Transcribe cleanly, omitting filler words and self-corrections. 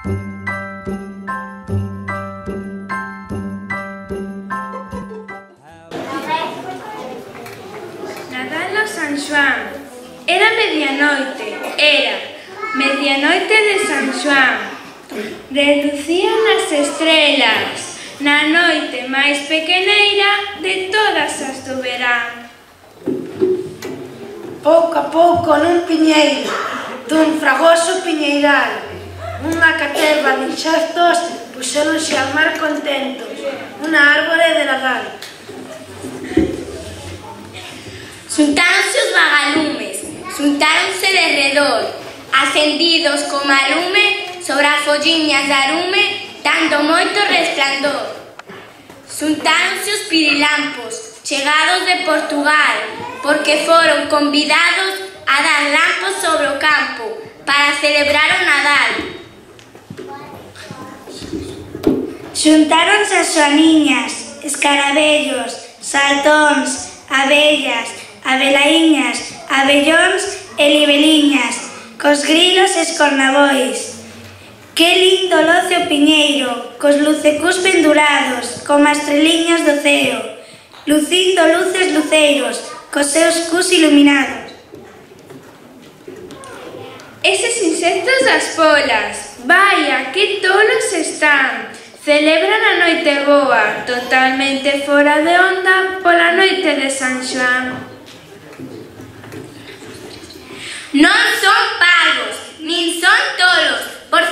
Nadal o San Xoán. Era medianoite de San Xoán. Relucían as estrelas na noite máis pequeneira de todas as do verán. Pouco a pouco nun piñeiro, dun fragoso piñeiral, unha caterva de inxectos puxéronse ao mar contentos, unha árbore de Nadal. Xuntáronse os vagalumes, xuntáronse de redor, acendidos como a lume sobre as folliñas de arume, dando moito resplandor. Xuntáronse os pirilampos, chegados de Portugal, porque foron convidados a dar lampos sobre o campo para celebrar o Nadal. Xuntáronse as xoaniñas, escarabellos, saltóns, abellas, abelaíñas, abellóns e libeliñas, cos grilos e escornabois. Que lindo loce o piñeiro, cos lucecús pendurados, como as estreliñas do ceo, lucindo luces luceiros, cos seus cus iluminados. Eses insectos das polas, vaia, que tolos están! Celebran a noite boa, totalmente fora de onda, pola noite de San Xoán. Non son parvos, nin son tolos, por